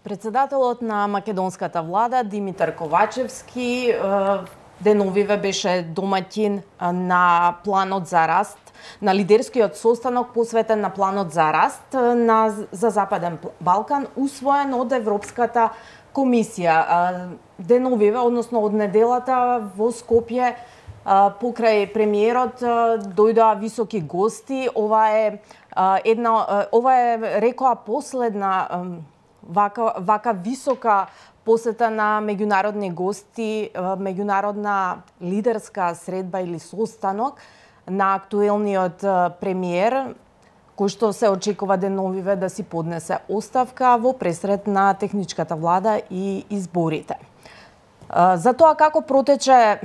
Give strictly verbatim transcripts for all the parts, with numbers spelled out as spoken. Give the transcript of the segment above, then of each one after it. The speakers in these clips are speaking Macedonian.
Председателот на македонската влада Димитар Ковачевски деновиве беше домаќин на планот за раст, на лидерскиот состанок посветен на планот за раст на, за Западен Балкан, усвоен од Европската комисија. Деновиве, односно од неделата во Скопје, покрај премиерот дојдоа високи гости. Ова е една, ова е рекоа последна вака вака висока посета на меѓународни гости, меѓународна лидерска средба или состанок на актуелниот премиер, кој што се очекува деновиве да си поднесе оставка во пресред на техничката влада и изборите. За тоа како протече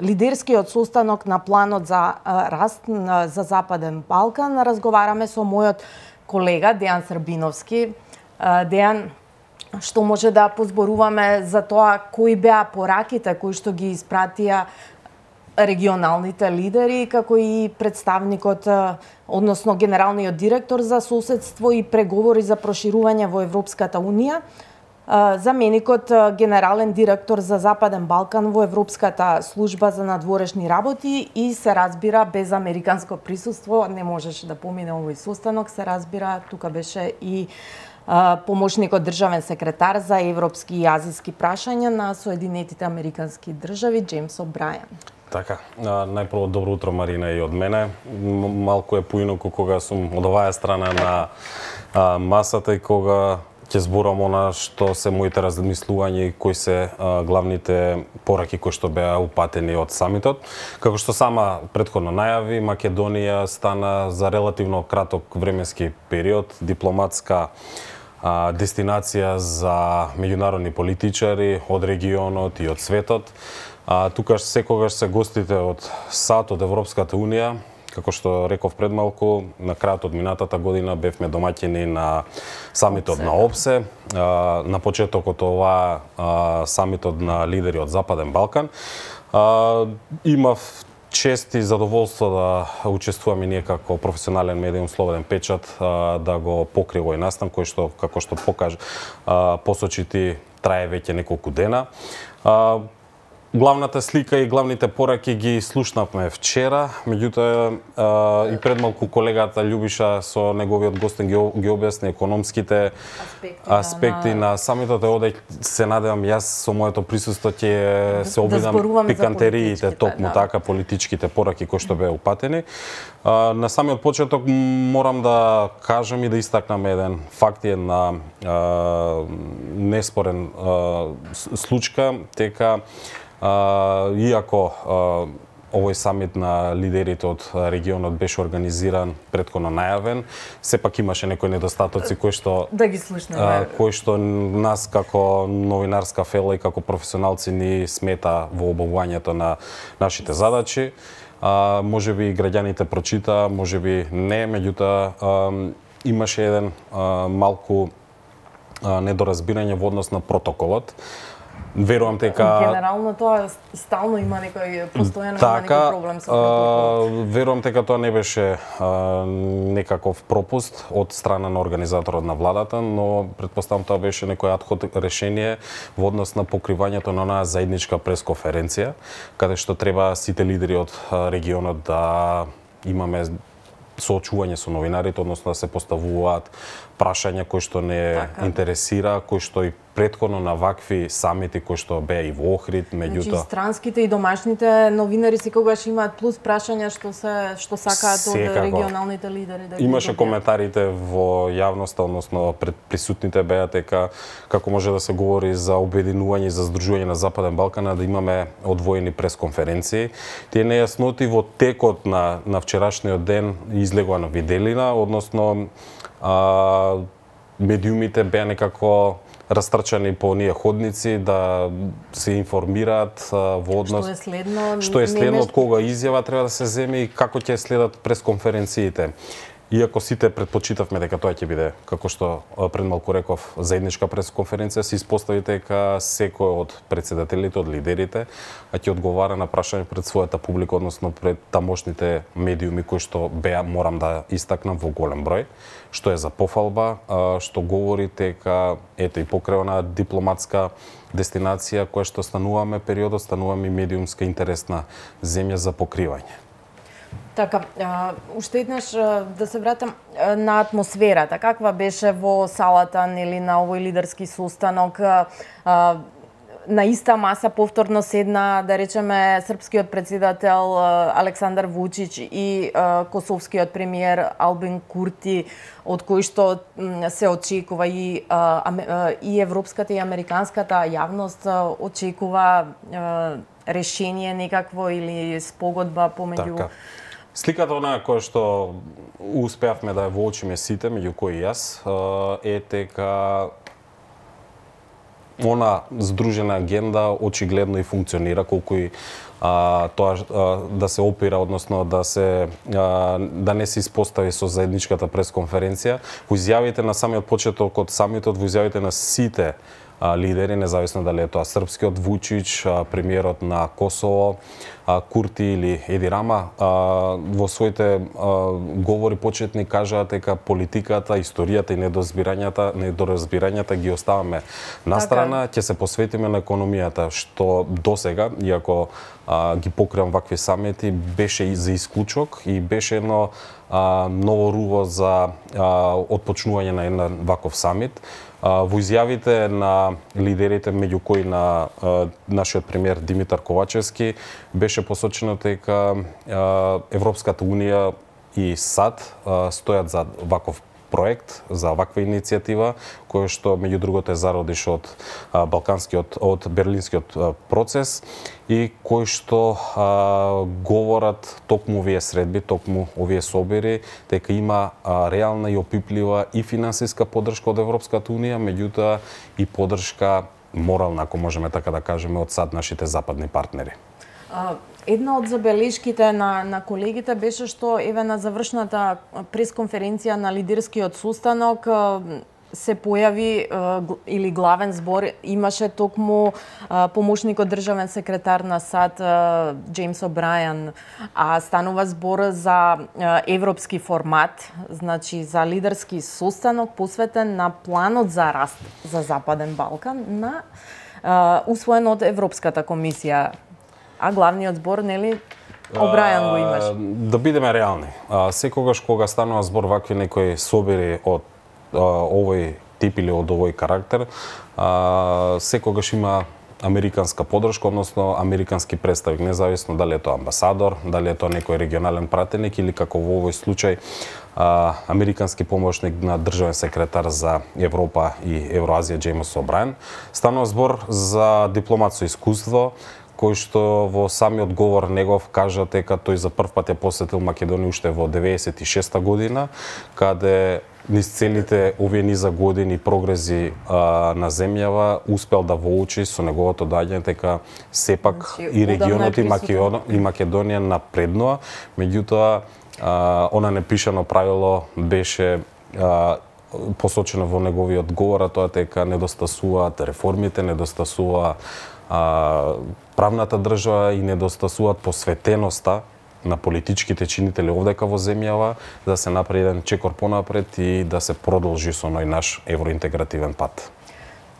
лидерскиот состанок на планот за раст за Западен Балкан, разговараме со мојот колега Дејан Србиновски. Дејан, што може да позборуваме за тоа кои беа пораките кои што ги испратија регионалните лидери, како и представникот, односно генералниот директор за соседство и преговори за проширување во Европската унија, заменикот генерален директор за Западен Балкан во Европската служба за надворешни работи и се разбира без американско присуство не можеше да помине овој состанок, се разбира тука беше и помошникот државен секретар за европски и азиски прашања на Соединетите американски држави Џејмс О'Брајен. Така, најпрво добро утро Марина и од мене. Малку е поинаку кога сум од оваа страна на масата и кога ќе зборам она што се моите размислувања и кои се главните пораки кои што беа упатени од самитот. Како што сама претходно најави, Македонија стана за релативно краток временски период дипломатска дестинација за меѓународни политичари од регионот и од светот. А, тука секогаш се гостите од САД, од Европската унија. Како што реков пред малку, на крајот од минатата година бевме домаќини на самитот на ОПСЕ, а, на почетокот ова а, самитот на лидери од Западен Балкан. А, имав чест и задоволство да учествувам и ние како професионален медиум Слободен печат да го покри овој настан кој што, како што покажа, посочи ти, трае веќе неколку дена. Главната слика и главните пораки ги слушнавме вчера, меѓутоа и пред малку колегата Љубиша со неговиот гостин ги, ги објасни економските аспекти, аспекти на, на самитот. Оде се надевам јас со моето присуство ќе се обидам да пикантериите, токму да. Така политичките пораки кои што беа упатени. На самиот почеток морам да кажам и да истакнам еден факт, една неспорен случка, дека Uh, иако uh, овој самит на лидерите од регионот беше организиран претходно најавен, сепак имаше некои недостатоци кои што да ги слушнеме, uh, кои што нас како новинарска фела и како професионалци ни смета во обавувањето на нашите задачи. Uh, може би граѓаните прочита, може би не, меѓутоа uh, имаше еден uh, малку uh, недоразбирање во однос на протоколот. Верувам дека генерално тоа стално има некој постојано така, има некој проблем со протоколот. Верувам дека тоа не беше а, некаков пропуст од страна на организаторот на владата, но претпоставам тоа беше некој адхок решение во однос на покривањето на онаа заедничка пресконференција, каде што треба сите лидери од регионот да имаме соочување со новинарите, односно да се поставуваат прашања кои што не така интересира, кои што и претходно на вакви самити кои што беа и во Охрид, меѓутоа значи странските и домашните новинари секогаш имаат плюс прашања што се што сакаат од регионалните лидери да ги имаше добијат. Коментарите во јавноста, односно пред присутните беа дека како може да се говори за обединување и за здружување на Западен Балкан, да имаме одвоени пресконференции. Тие нејасноти во текот на на вчерашниот ден излегува на виделина, односно а, медиумите беа некако растрчани по оние ходници да се информираат а, во однос што е следно, што е следно, од кога изјава треба да се земе и како ќе следат пресконференциите. Иако сите предпочитавме дека тоа ќе биде, како што пред малку реков, заедничка пресконференција, се испостави дека секој од претседателите, од лидерите, а ќе одговара на прашање пред својата публика, односно пред тамошните медиуми кои што беа, морам да истакнам, во голем број, што е за пофалба, што говори дека ето и покрај онаа дипломатска дестинација која што стануваме периодот, стануваме медиумска интересна земја за покривање. Така, уште еднаш да се вратам на атмосферата. Каква беше во салата, нели, на овој лидерски состанок? На иста маса повторно седна, да речеме, српскиот председател Александар Вучич и косовскиот премиер Албин Курти, од кои што се очекува и, и европската и американската јавност очекува решение некакво или спогодба помеѓу... Така. Сликата онаа која што успеавме да ја воочиме сите, меѓу кои јас, е дека она здружена агенда очигледно и функционира, колку и а, тоа а, да се опира, односно да се а, да не се испостави со заедничката пресконференција. Во изјавите на самиот почеток од самитот, во изјавите на сите лидери, независно дали е тоа српскиот Вучич, премиерот на Косово, Курти или Еди Рама, во своите говори почетни кажаат дека политиката, историјата и недоразбирањата, недоразбирањата ги оставаме на страна, ќе се посветиме на економијата, што досега, иако ги покривам вакви самити, беше и за исклучок и беше едно ново руво за отпочнување на еден ваков самит. Во изјавите на лидерите, меѓу кои на нашиот премиер Димитар Ковачевски, беше посочено дека Европската унија и САД стојат за ваков проект, за ваква иницијатива, која што меѓу другото е зародиш од балканскиот, од берлинскиот процес и кој што а, говорат токму овие средби, токму овие собери, дека има а, реална и опиплива и финансиска поддршка од Европската унија, меѓутоа и поддршка морална, ако можеме така да кажеме, од САД, нашите западни партнери. Една од забелешките на, на колегите беше што еве на завршната пресконференција на лидерскиот состанок се појави или главен збор имаше токму помошникот државен секретар на САД Джеймс О'Брајан, а станува збор за европски формат, значи за лидерски состанок посветен на планот за раст за Западен Балкан, на усвоен од Европската комисија. А главниот збор, нели, О'Брајан го имаш? Да бидеме реални. Секогаш кога станува збор вакви некои собери од овој тип или од овој карактер, секогаш има американска поддршка, односно американски представник, независно дали е тоа амбасадор, дали е тоа некој регионален пратеник или како во овој случај американски помошник на државен секретар за Европа и Евроазија Джеймс О'Брајан. Станува збор за дипломат со искуство, кој што во самиот говор негов кажа дека тој за прв пат ја посетил Македонија уште во деветдесет и шеста година, каде низ целите овие низа години прогрези а, на земјава успел да воучи со неговото доаѓање дека сепак значи, и регионот и, Македон, и Македонија напреднува, меѓутоа она непишано правило беше а, посочено во неговиот говор, а тоа дека недостасуваат реформите, недостасува а, правната држава и недостасуваат посветеноста на политичките чинители овдека во земјава, да се направи еден чекор понапред и да се продолжи со оној наш евроинтегративен пат.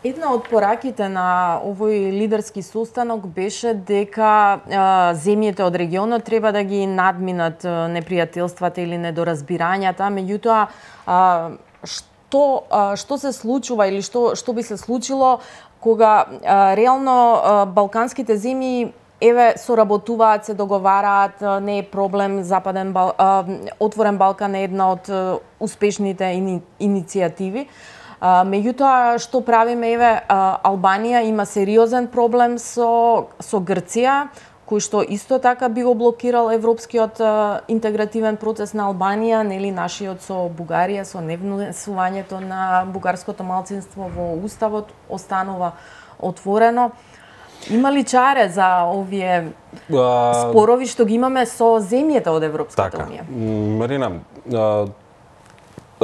Една од пораките на овој лидерски состанок беше дека а, земјите од регионот треба да ги надминат непријателствата или недоразбирањата, меѓутоа а, што а, што се случува или што што би се случило кога а, реално а, балканските земји еве соработуваат, се договараат, не е проблем Западен Бал... а, Отворен Балкан е една од успешните ини... иницијативи. А, меѓутоа што правиме, еве а, Албанија има сериозен проблем со со Грција, кој што исто така би го блокирал европскиот а, интегративен процес на Албанија, нели нашиот со Бугарија, со невнесувањето на бугарското малцинство во уставот останува отворено. Има ли чаре за овие а... спорови што ги имаме со земјите од Европската така. унија? Марина, а,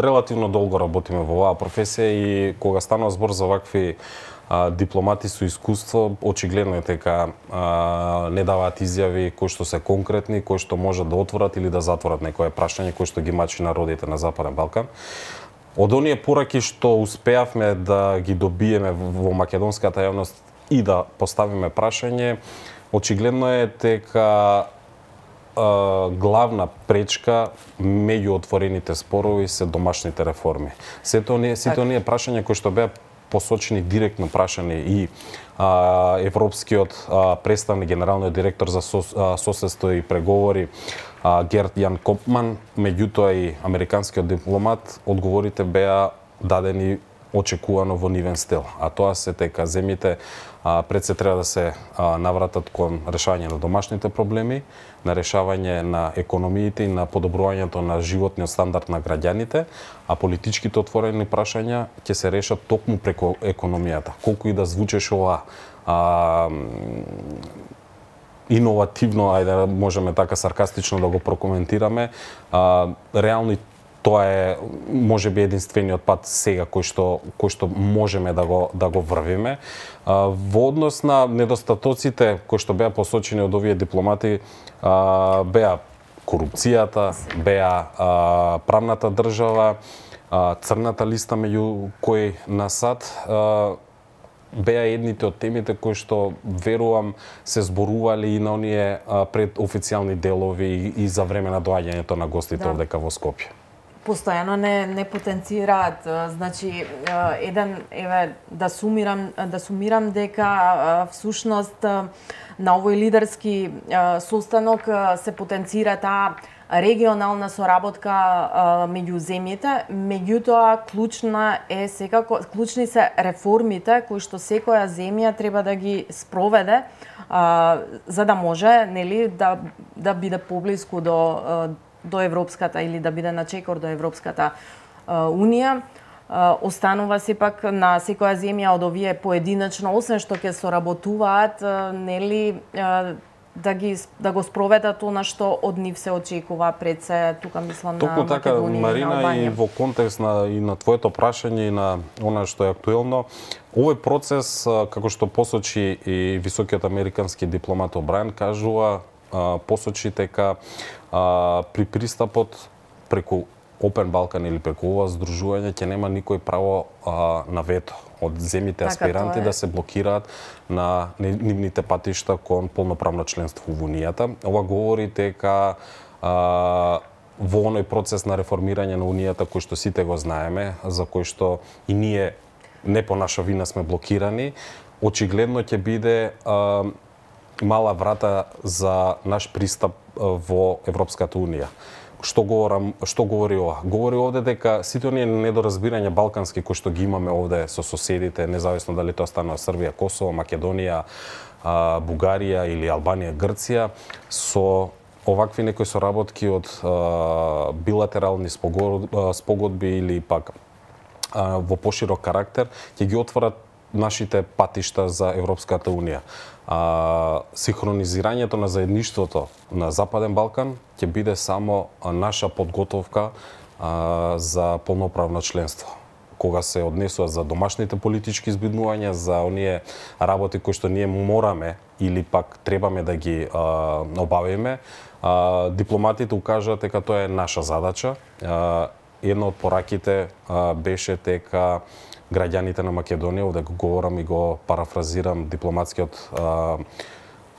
релативно долго работиме во оваа професија и кога станува збор за вакви а, дипломати со искуство, очигледно е дека а, не даваат изјави кои што се конкретни, кои што можат да отворат или да затворат некое прашање кои што ги мачи народите на Западен Балкан. Од оние пораки што успеавме да ги добиеме во македонската јавност и да поставиме прашање, очигледно е дека главна пречка меѓу отворените спорови се домашните реформи. Сето оние, сите оние прашања кои што беа посочени директно прашани и а, европскиот а, представник, генералниот директор за сос, а, соседство и преговори а, Герт Јан Копман, меѓутоа и американскиот дипломат, одговорите беа дадени очекувано во нивен стил, а тоа се дека земјите а, пред се треба да се а, навратат кон решавање на домашните проблеми, на решавање на економиите и на подобрувањето на животниот стандард на граѓаните, а политичките отворени прашања ќе се решат токму преку економијата. Колку и да звучеше ова а, иновативно, ајде можеме така саркастично да го прокоментираме, а, реално тоа е можеби единствениот пат сега кој што кој што можеме да го да го врвиме. А, во однос на недостатоците кои што беа посочени од овие дипломати, а, беа корупцијата, беа а, правната држава, а, црната листа меѓу кои на САД, а, беа едните од темите кои што верувам се зборувале и на оние а, пред официјални делови и, и за време на доаѓањето на гостите да. Овдека во Скопје. Постојано не не потенцираат, значи еден еве да сумирам да сумирам дека всушност на овој лидерски состанок се потенцира таа регионална соработка меѓу земјите, меѓутоа клучна е секако клучни се реформите кои што секоја земја треба да ги спроведе за да може, нели, да да биде поблиску до до европската или да биде на чекор до Европската унија. Останува сепак на секоја земја од овие поединачно, освен што ќе соработуваат, нели, да ги да го спроведат она што од нив се очекува пред се, тука мислам на Македонија. Току така, Марина, и во контекст на и на твоето прашање и на она што е актуелно, овој процес, како што посочи и високиот американски дипломат О'Брајен, кажува, посочи дека а, при пристапот преку Open Balkan или преку ова здружување ќе нема никој право а, на вето од земјите аспиранти така, да се блокираат на нивните патишта кон полноправно членство во Унијата. Ова говори дека а, во оној процес на реформирање на Унијата кој што сите го знаеме, за кој што и ние не по наша вина сме блокирани, очигледно ќе биде а, мала врата за наш пристап во Европската Унија. Што говорам, што говори ова? Говори овде дека сите оние недоразбирања балкански кои што ги имаме овде со соседите, независно дали тоа станува Србија, Косово, Македонија, Бугарија или Албанија, Грција, со овакви некои соработки од билатерални спогодби или пак во поширок карактер, ќе ги отворат нашите патишта за Европската Унија. А, синхронизирањето на заедништвото на Западен Балкан ќе биде само наша подготовка а, за полноправно членство. Кога се однесува за домашните политички избиднувања, за оние работи кои што ние мораме или пак требаме да ги а, обавиме, а, дипломатите укажаат дека тоа е наша задача. А, една од пораките а, беше дека граѓаните на Македонија, овде го говорам и го парафразирам дипломатскиот а,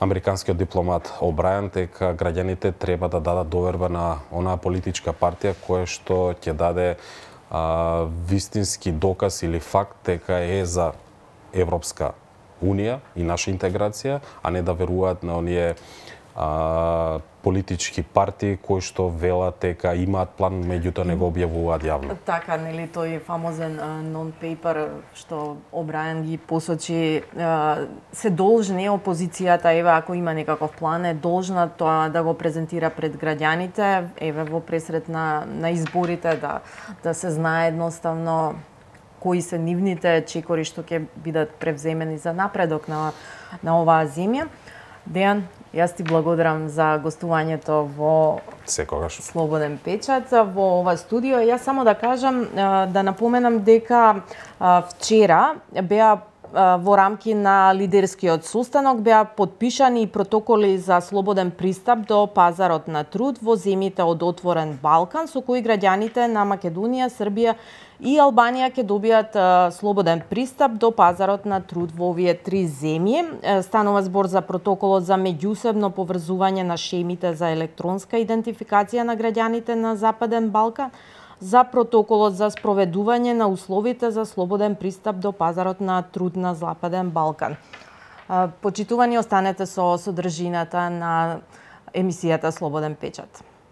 американскиот дипломат О'Брајен, дека граѓаните треба да дадат доверба на онаа политичка партија која што ќе даде а, вистински доказ или факт дека е за Европска Унија и наша интеграција, а не да веруваат на оние а, политички партии кои што велат дека имаат план, меѓутоа не го објавуваат јавно. Така, нели, тој фамозен нон-пейпер што О'Брајен ги посочи, а, се должни опозицијата, еве, ако има некаков план, е должна тоа да го презентира пред граѓаните, еве, во пресред на, на изборите, да, да се знае едноставно кои се нивните чекори што ќе бидат превземени за напредок на, на оваа земја. Дејан, Јас ти благодарам за гостувањето во Секогаш. Слободен печат во ова студио. Јас само да кажам, да напоменам дека вчера беа во рамки на лидерскиот состанок беа подпишани протоколи за слободен пристап до пазарот на труд во земјите од Отворен Балкан, со кои граѓаните на Македонија, Србија и Албанија ќе добијат слободен пристап до пазарот на труд во овие три земји. Станува збор за протоколот за меѓусебно поврзување на шемите за електронска идентификација на граѓаните на Западен Балкан, за протоколот за спроведување на условите за слободен пристап до пазарот на труд на Западен Балкан. Почитувани, останете со содржината на емисијата Слободен печат.